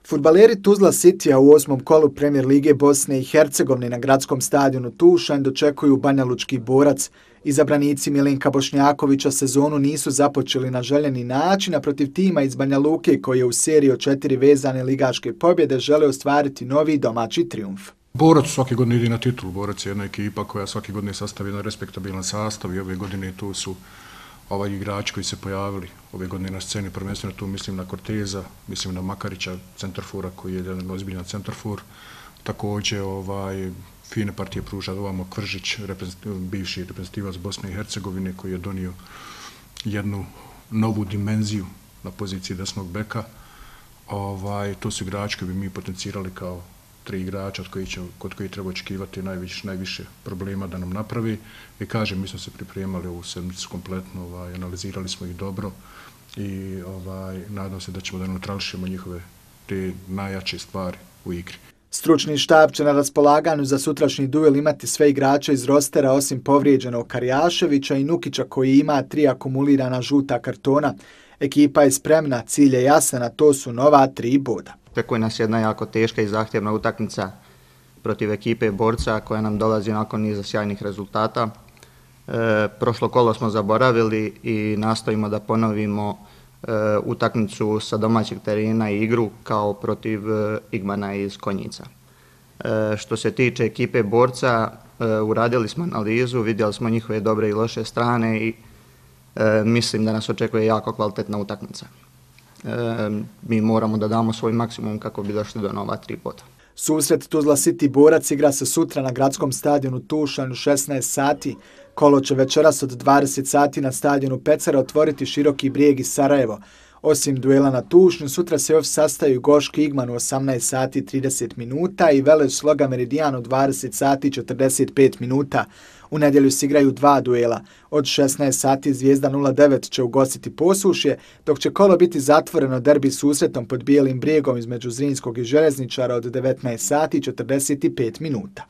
Fudbaleri Tuzla Citya u 8. kolu Premier lige Bosne i Hercegovine na gradskom stadionu Tušanj dočekuju Banjalučki Borac. Izabranici Milinka Bošnjakovića sezonu nisu započeli na željeni način, a protiv tima iz Banja Luke koji je u seriji od 4 vezane ligaške pobjede žele ostvariti novi domaći trijumf. Borac svake godine ide na titulu. Borac je jedna ekipa koja svake godine sastavi jedan respektabilan sastav i ove godine tu su igrači koji se pojavili ove godine na sceni, prvenstveno tu mislim na Corteza, mislim na Makarića, centarfura koji je jedan ozbiljan centarfur. Također fine partije pruža ovamo Kvržić, bivši reprezentativac Bosne i Hercegovine koji je donio jednu novu dimenziju na poziciji desnog beka. To su igrači koji bi mi potencirali kao 3 igrača kod kojih treba očekivati najviše problema da nam napravi. I kažem, mi smo se pripremali ovu sedmicu kompletno, analizirali smo ih dobro i nadam se da ćemo da neutrališemo njihove te najjače stvari u igri. Stručni štab će na raspolaganju za sutrašnji duel imati sve igrače iz rostera osim povrijeđenog Karjaševića i Nukića koji ima 3 akumulirana žuta kartona. Ekipa je spremna, cilj je jasan, a to su nova 3 boda. Očekuje nas jedna jako teška i zahtjevna utakmica protiv ekipe Borca koja nam dolazi nakon niza sjajnih rezultata. Prošlo kolo smo zaboravili i nastojimo da ponovimo utakmicu sa domaćeg terena i igru kao protiv Igmana iz Konjica. Što se tiče ekipe Borca, uradili smo analizu, vidjeli smo njihove dobre i loše strane i mislim da nas očekuje jako kvalitetna utakmica. Mi moramo da damo svoj maksimum kako bi došli do nova 3 boda. Susret Tuzla City Borac igra se sutra na gradskom stadionu Tušanj u 16 sati. Kolo će večeras od 20 sati na stadionu Pecera otvoriti Široki Brijeg i Sarajevo. Osim duela na Tušnju, sutra se još sastaju Goški Igman u 18 sati 30 minuta i Velez Sloga Meridijan u 20 sati 45 minuta. U nedjelju se igraju 2 duela. Od 16 sati Zvijezda 09 će ugostiti Posušje, dok će kolo biti zatvoreno derbi susretom pod Bijelim Brijegom između Zrinskog i Željezničara od 19 sati 45 minuta.